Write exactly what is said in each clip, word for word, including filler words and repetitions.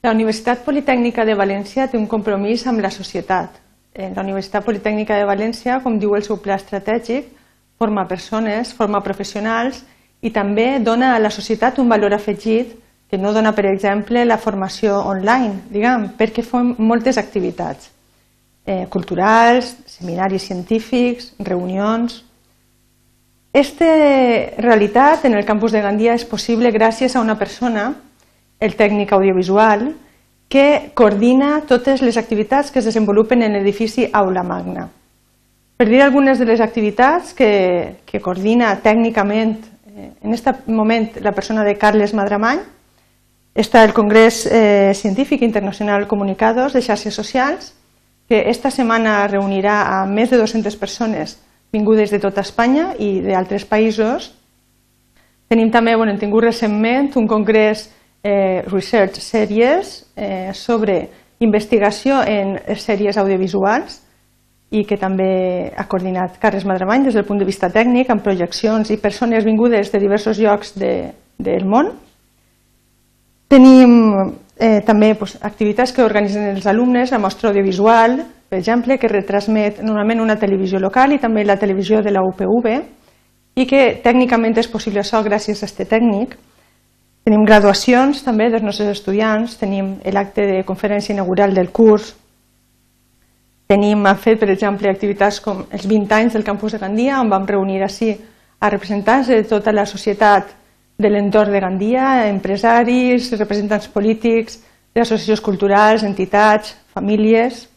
La Universitat Politècnica de València té un compromís amb la societat. La Universitat Politècnica de València, com diu el seu pla estratègic, forma persones, forma professionals i també dona a la societat un valor afegit que no dona, per exemple, la formació online, diguem, perquè fem moltes activitats eh, culturals, seminaris científics, reunions. Aquesta realitat en el campus de Gandia és possible gràcies a una persona, el tècnic audiovisual, que coordina totes les activitats que es desenvolupen en l'edifici Aula Magna. Per dir algunes de les activitats que, que coordina tècnicament en aquest moment la persona de Carles Madramany, està el Congrés eh, Científic Internacional Comunicados de Xarxes Socials, que esta setmana reunirà a més de dues-centes persones vingudes de tota Espanya i d'altres països. Tenim també, bueno, hem tingut recentment un congrés eh, Research Series eh, sobre investigació en sèries audiovisuals i que també ha coordinat Carles Madramany des del punt de vista tècnic, amb projeccions i persones vingudes de diversos llocs de, del món. Tenim eh, també pues, activitats que organitzen els alumnes, la mostra audiovisual, per exemple, que retransmet normalment una televisió local i també la televisió de la U P V, i que tècnicament és possible això gràcies a aquest tècnic. Tenim graduacions també dels nostres estudiants, tenim l'acte de conferència inaugural del curs, tenim, hem fet, per exemple, activitats com els vint anys del campus de Gandia, on vam reunir així a representants de tota la societat de l'entorn de Gandia, empresaris, representants polítics, de associacions culturals, entitats, famílies.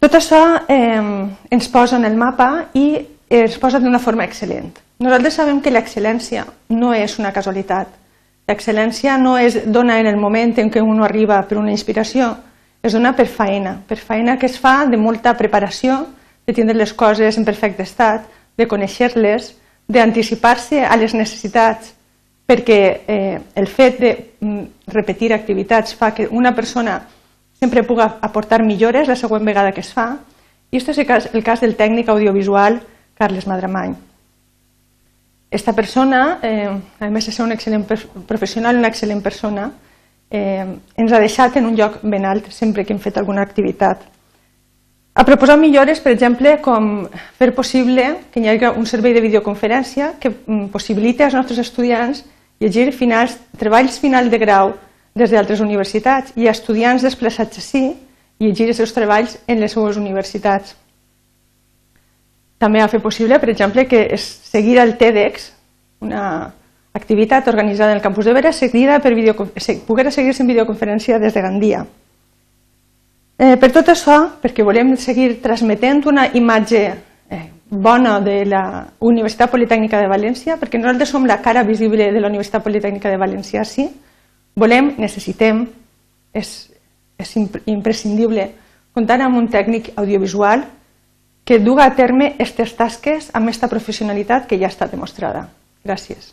Tot això eh, ens posa en el mapa i es posa d'una forma excel·lent. Nosaltres sabem que l'excel·lència no és una casualitat. L'excel·lència no es dona en el moment en què un arriba per una inspiració, es dona per feina, per feina que es fa de molta preparació, de tindre les coses en perfecte estat, de conèixer-les, d'anticipar-se a les necessitats, perquè eh, el fet de repetir activitats fa que una persona sempre pugui aportar millores la següent vegada que es fa, i aquest és el cas, el cas del tècnic audiovisual Carles Madramany. Esta persona, eh, a més de ser un excel·lent professional, una excel·lent persona, eh, ens ha deixat en un lloc ben alt sempre que hem fet alguna activitat. Ha proposat millores, per exemple, com fer possible que hi hagi un servei de videoconferència que possibiliti als nostres estudiants llegir finals, treballs final de grau des d'altres universitats i a estudiants desplaçats així llegir els seus treballs en les seues universitats. També ha fet possible, per exemple, que es seguir el TEDx, una activitat organitzada en el campus de Vera, seguida per poder seguir-se en videoconferència des de Gandia. Eh, per tot això, perquè volem seguir transmetent una imatge eh, bona de la Universitat Politècnica de València, perquè nosaltres som la cara visible de la Universitat Politècnica de València, sí, volem, necessitem, és, és imprescindible comptar amb un tècnic audiovisual que duga a terme aquestes tasques amb aquesta professionalitat que ja està demostrada. Gràcies.